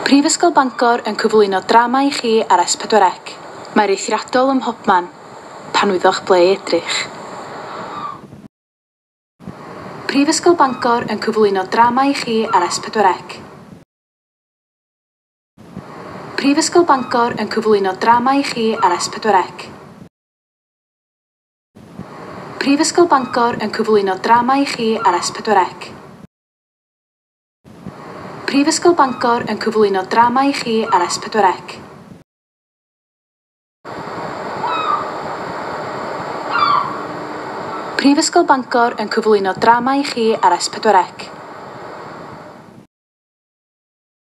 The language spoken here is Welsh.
Prifysgol Bangor yn cyflwyno drama i chi ar S4C. Mae'r eithriadol ym mhobman, pan wyddoch ble i edrych. Prifysgol Bangor yn cyflwyno drama i chi ar S4C. Prifysgol Bangor yn cyflwyno drama i chi ar S4C. Prifysgol Bangor yn cyflwyno drama i chi ar S4C. Prifysgol Bangor yn cyflwyno drama i chi ar S4C. Prifysgol Bangor yn cyflwyno drama i chi ar S4C.